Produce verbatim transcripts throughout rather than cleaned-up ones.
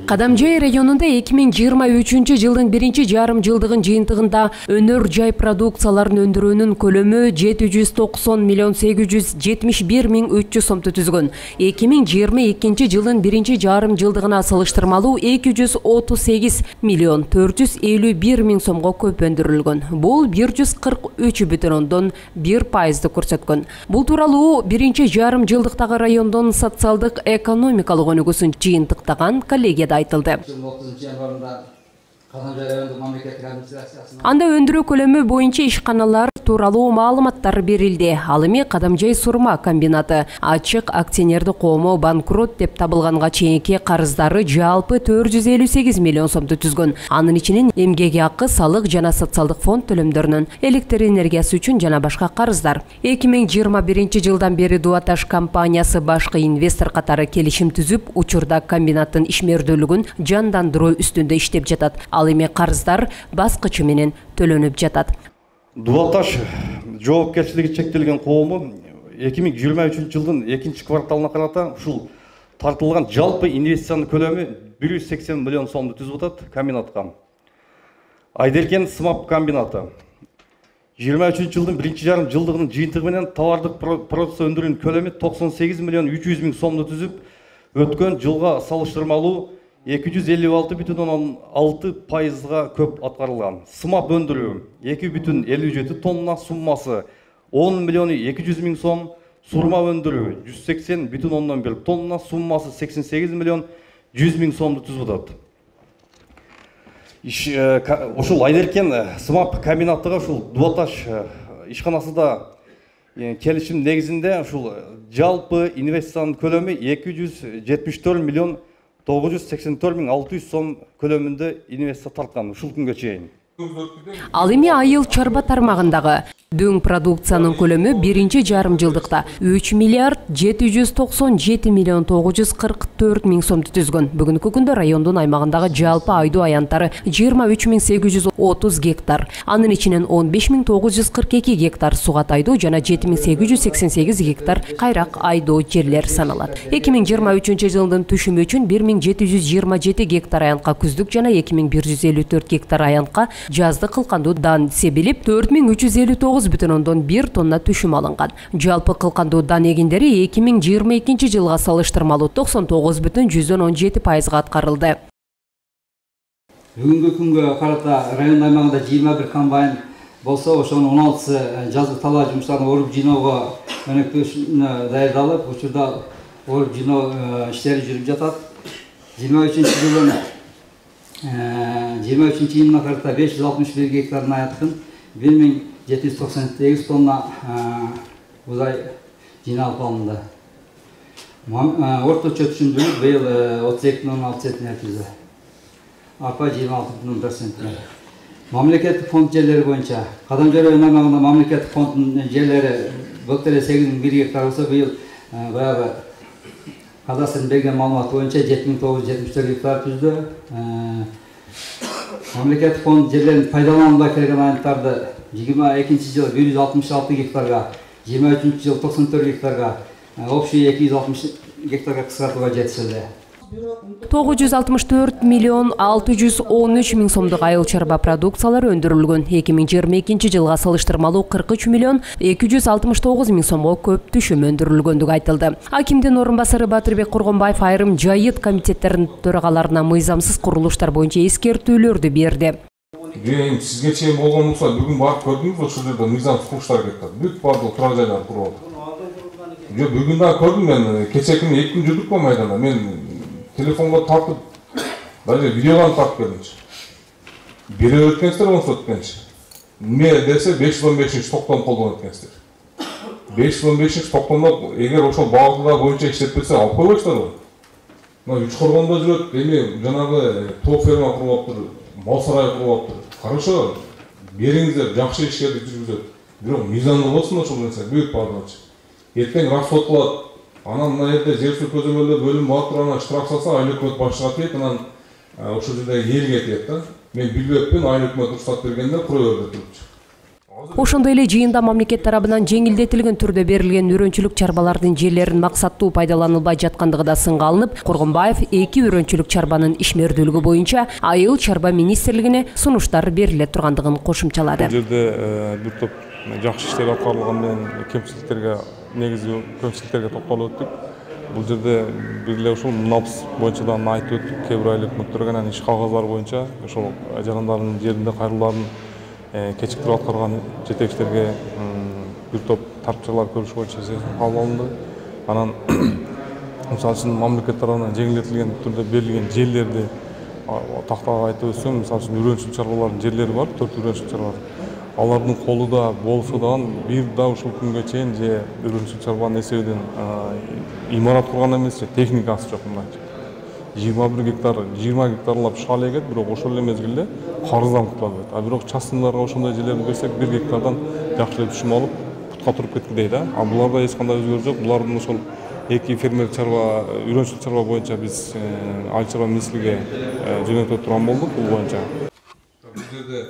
Кадамжай районунда эки миң жыйырма үчүнчү жылдын биринчи жарым жылдыгын жыйынтыгында өнөр жай продукцияларын өндүрүүнүн көлөмү жети жүз токсон миллион сегиз жүз жетимиш бир миң үч жүз сомду түзгөн. эки миң жыйырма экинчи жылдын биринчи жарым жылдыгына салыштырмалуу эки жүз отуз сегиз миллион төрт жүз элүү бир миң сомго көп өндүрүлгөн. Бул бир жүз кырк үч бүтүн ондон бир пайызды көрсөткөн. Бул тууралуу биринчи жарым жылдыктагы райондон социалдык экономикалык өнүгүүсүн жыйынтыктаган коллегияда айтылды. Анда өндүрүү көлөмү боюнча ишканалар тууралуу маалыматтар берилди. Ал эми Кадамжай сурма комбинаты ачык акционердик коому банкрот деп табылганга чейинки карыздары жалпы төрт жүз элүү сегиз миллион сомду түзгөн. Анын ичинен эмгек акы, салык жана социалдык фонд төлөмдөрүнөн, электр энергиясы үчүн жана башка карыздар. эки миң жыйырма биринчи жылдан бери Дуаташ компаниясы башкы инвестор катары келишим түзүп, учурда комбинаттын ишмердүүлүгүн жандандыруу үстүндө иштеп жатат. Ал эми карыздар баскычы менен төлөнүп жатат. Дуаташ жоопкерчилиги чектелген коому эки миң жыйырма үчүнчү жылдын экинчи кварталына карата ушул тартылган жалпы инвестициянын көлөмү бир жүз сексен миллион сомду түзүп атат комбинатка. Айдеркен сымап комбинаты жыйырма үчүнчү жылдын биринчи жарым жылдыгынын жыйынтыгы менен товардык продукция өндүрүүнүн көлөмү токсон сегиз миллион үч жүз миң сомду түзүп, өткөн жылга салыштырмалуу эки жүз элүү алты бүтүн ондон алты пайызга көп аткарылган. Сымап өндүрүү эки бүтүн элүү жети тонна, суммасы он миллион эки жүз миң сом, сурма өндүрүү жүз сексен бүтүн ондон бир тонна, суммасы сексен сегиз миллион жүз миң сомду түзүп атат. Ушул Айдеркен сымап комбинатыга ушул Дуаташ ишканасында келишим негизинде ушул жалпы инвестициянын көлөмү эки жүз жетимиш төрт миллион тогуз жүз сексен төрт миң алты жүз сом көлөмүндө инвестиция тарткан ушул күнгө чейин. Ал эми айыл чарба тармагындагы дөң продукциянын көлөмү биринчи жарым жылдыкта үч миллиард жети жүз токсон жети миллион тогуз жүз кырк төрт миң сомду түзгөн. Бүгүнкү күндө райондун аймагындагы жалпы айдоо аянттары жыйырма үч миң сегиз жүз отуз гектар. Анын ичинен он беш миң тогуз жүз кырк эки гектар сугат айдоо жана жети миң сегиз жүз сексен сегиз гектар кайрак айдоо жерлер саналат. эки миң жыйырма үчүнчү жылдын түшүмү үчүн бир миң жети жүз жыйырма жети гектар аянтка күздүк жана эки миң бир жүз элүү төрт гектар аянтка жаздык кылкандуу дан себилип, төрт миң үч жүз элүү тогуз бүтүн ондон бир тонна түшүм алынган. Жалпы кылкандуу дан эгиндери эки миң жыйырма экинчи жылга салыштырмалуу токсон тогуз бүтүн жүздөн он жети пайызга аткарылды. Бүгүнкү күнгө карата район аймагында жыйырма бир комбайн болсо, ошонун он алтысы жазгы талаа жумуштарын оруп жыйноого өнөктөшүнө даярдалып, учурда оруп жыйноо иштери жүрүп жатат. жыйырма үчүнчү жылдын жыйырма үчүнчү жылына карата беш жүз алтымыш бир гектардын аянтын бир миң жети жүз токсон сегиз тонна бузай жыйналып алынды. Орточо түшүмдүүлүк быйыл отуз эки бүтүн алты центнер түздү. Арпа жыйырма алты бүтүн бир центнер. Мамлекеттик фонд жерлери боюнча Кадамжай район аймагында мамлекеттик фонддун жерлери былтыр эле сегиз миң бир гектар болсо, быйыл баягы кадастрдын берген маалыматы боюнча жети миң тогуз жүз жетимиш төрт гектар түздү. Мамлекеттик фонд жерлерин пайдаланууга келген аянттарды жыйырма экинчи жылы бир жүз алтымыш алты гектарга, жыйырма үчүнчү жылы токсон төрт гектарга, общий эки жүз алтымыш гектарга кыскартууга жетишилди. тогуз жүз алтымыш төрт миллион алты жүз он үч миң сомдук айыл чарба продукциялары өндүрүлгөн. эки миң жыйырма экинчи жылга салыштырмалуу кырк үч миллион эки жүз алтымыш тогуз миң сомго көп түшүм өндүрүлгөндүгү айтылды. Акимдин орун басары Батырбек Кургонбаев айрым жайыт комитеттеринин төрагаларына мыйзамсыз курулуштар боюнча эскертүүлөрдү берди. Эми сизге чейин болгон болсо, бүгүн барып көрдүңүз, ошол жерде мыйзамсыз курулуштар кетти. Бүт бардык турак жайлар куруп атат. Жок, бүгүн да көрдүм мен, кечээ күнү эки күн жүрдүк го майданда. Мен телефонго тартып, даже видеодан тартып келдимчи. Бире өткөнсүздөр, онсу өткөнчү. Эмне десе беш жүз он бешинчи токтом колдонуп өткөнсүздөр. беш жүз он бешинчи токтомдо эгер ошол багытылар боюнча иштеп берсе, алып койбойсуздар го. Мына үч коргондо жүрөт, эми жанагы тоо ферма куруп атыптыр, мал сарай куруп атыптыр. Хорошо, бериңиздер, жакшы иштерди жүргүзөт. Бирок мыйзамдуу болсун ошол нерсе, бүт бардыгычы. Эртең расход кылат. Анан мына жерде жер суу көзөмөлдөө бөлүм бар туруп, анан штраф салса, айыл өкмөт башчыга тиет, анан ошол жерде элге тиет да. Мен билбеппин, айыл өкмөт уруксат бергенде кура берди турупчу. Ошондой эле жыйында мамлекет тарабынан жеңилдетилген түрдө берилген өрөөнчүлүк чарбалардын жерлерин максаттуу пайдаланылбай жаткандыгы да сынга алынып, Коргонбаев эки өрөөнчүлүк чарбанын ишмердүүлүгү боюнча Айыл чарба министрлигине сунуштар бериле тургандыгын кошумчалады. Бул жерде бир топ жакшы иштер аткарылган менен кемчиликтерге, негизги кемчиликтерге токтолуп өттүк. Бул жерде бир эле ушул НАПС боюнча да айтып өттүк. Кээ бир айыл өкмөттөргө анан иш кагаздары боюнча ошол жарандардын жеринде кайрылууларын кечиктирип аткарган жетекчилерге бир топ тарапчылар көрүш боюнча кабыл алынды. Анан мисалы үчүн мамлекет тарабынан жеңилдетилген түрдө берилген жерлерди тактап айтып өтсөм, мисалы үчүн өрөөнчүлүк чарбалардын жерлери бар, төрт өрөөнчүлүк чарба. Алардын колуда болсо дагы бир да ушул күнгө чейин же өрөөнчүлүк чарбанын эсебинен имарат курган эмес, же техникасы жок мындайча. жыйырма бир гектар, жыйырма гектарлап шал эгет, бирок ошол эле мезгилде карыздан кутула албайт. А бирок частныйларга ошондой жерлерди берсек, бир гектардан жакшы эле түшүм алып, путка туруп кеткидей да. А буларда эч кандай өзгөрүү жок. Булардын ошол эки фермер чарба, өрөөнчүлүк чарба боюнча биз Айыл чарба министрлигине жөнөтө турган болдук бул боюнча. Бул жерде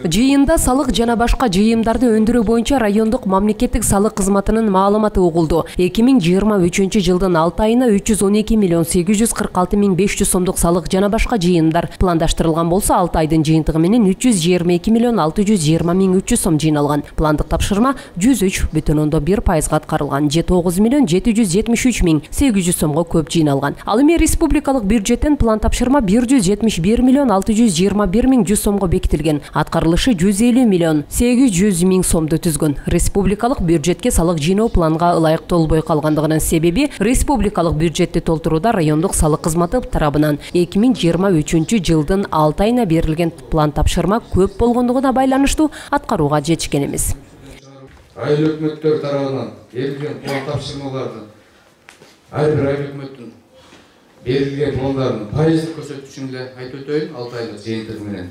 Жыйында салык жана башка жыйымдарды өндүрүү боюнча райондук мамлекеттик салык кызматынын маалыматы угулду. эки миң жыйырма үчүнчү жылдын алты айына үч жүз он эки миллион сегиз жүз кырк алты миң беш жүз сомдук салык жана башка жыйымдар пландаштырылган болсо, алты айдын жыйынтыгы менен үч жүз жыйырма эки миллион алты жүз жыйырма миң үч жүз сом жыйналган. Пландык тапшырма жүз үч бүтүн ондон бир пайызга аткарылган. тогуз миллион жети жүз жетимиш үч миң сегиз жүз сомго көп жыйналган. Ал эми республикалык бюджеттен план тапшырма бир жүз жетимиш бир миллион алты жүз жыйырма бир миң жүз сомго бекитилген. Аткарылышы жүз элүү миллион сегиз жүз миң сомду түзгөн. Республикалык бюджетке салык жыйноо планга ылайыктолбой калгандыгынын себеби республикалык бюджетти толтурууда райондук салык кызматы тарабынан эки миң жыйырма үчүнчү жылдын алты айына берилген план тапшырма көп болгондугуна байланыштуу аткарууга жетишкен эмес. Айыл өкмөттөр тарабынан берилген план тапшырмалардын ар бир айыл өкмөттүн берилген пландардын пайыздык көрсөткүчүн эле айтып өтөйүн алты айлык жыйынтыгы менен.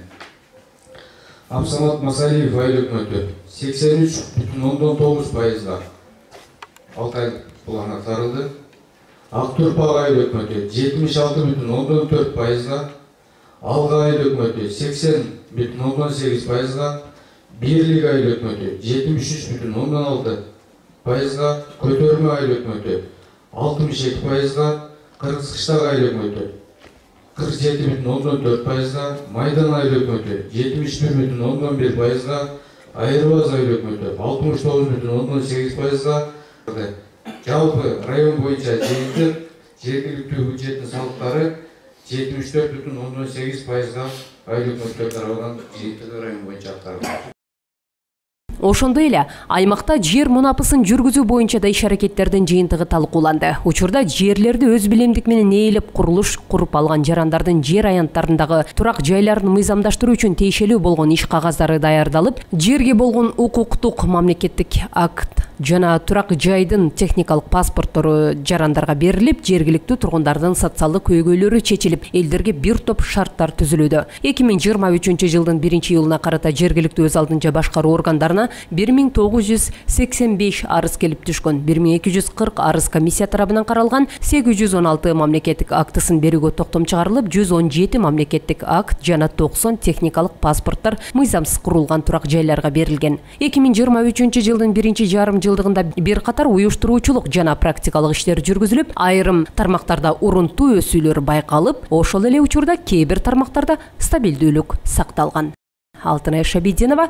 Абсамат Масалиев айыл өкмөтү сексен үч бүтүн ондон тогуз пайызга алты айлык план аткарылды. Актурпак айыл өкмөтү жетимиш алты бүтүн ондон төрт пайызга, Алга айыл өкмөтү сексен бүтүн ондон сегиз пайызга, Бирлик айыл өкмөтү жетимиш үч бүтүн ондон алты пайызга, Көтөрмө айыл өкмөтү алтымыш эки пайызга, Кыргыз Кыштак айыл өкмөтү кырк жети бүтүн ондон төрт пайызга, Майдан айыл өкмөтү жетимиш бир бүтүн ондон бир пайызга, Айырбаз айыл өкмөтү алтымыш тогуз бүтүн ондон сегиз пайызга. Жалпы район боюнча жыйынтык жергиликтүү бюджеттин салыктары жетимиш төрт бүтүн ондон сегиз пайызга айыл өкмөттөр тарабынан жыйынтыгы район боюнча аткарылды. Ошондой эле аймакта жер мунапысын жүргүзүү боюнча да иш-аракеттердин жыйынтыгы талкууланды. Учурда жерлерди өз билимдик менен ээлеп курулуш куруп алган жарандардын жер аянттарындагы турак жайларын мыйзамдаштыруу үчүн тиешелүү болгон иш кагаздары даярдалып, жерге болгон укуктук мамлекеттик акт жана турак жайдын техникалык паспорттору жарандарга берилип, жергиликтүү тургундардын социалдык көйгөйлөрү чечилип, элдерге бир топ шарттар түзүлүүдө. эки миң жыйырма үчүнчү жылдын биринчи июлуна карата жергиликтүү өз алдынча башкаруу органдарына бир миң тогуз жүз сексен беш арыз келип түшкөн. бир миң эки жүз кырк арыз комиссия тарабынан каралган. сегиз жүз он алты мамлекеттик актысын берүүгө токтом чыгарылып, жүз он жети мамлекеттик акт жана токсон техникалык паспорттор мыйзамсыз курулган турак жайларга берилген. эки миң жыйырма үчүнчү жылдын биринчи жарым жылдыгында бир катар уюштуруучулук жана практикалык иштер жүргүзүлүп, айрым тармактарда урунтуу өсүүлөр байкалып, ошол эле учурда кээ бир тармактарда стабилдүүлүк сакталган. Алтынай Шабидинова,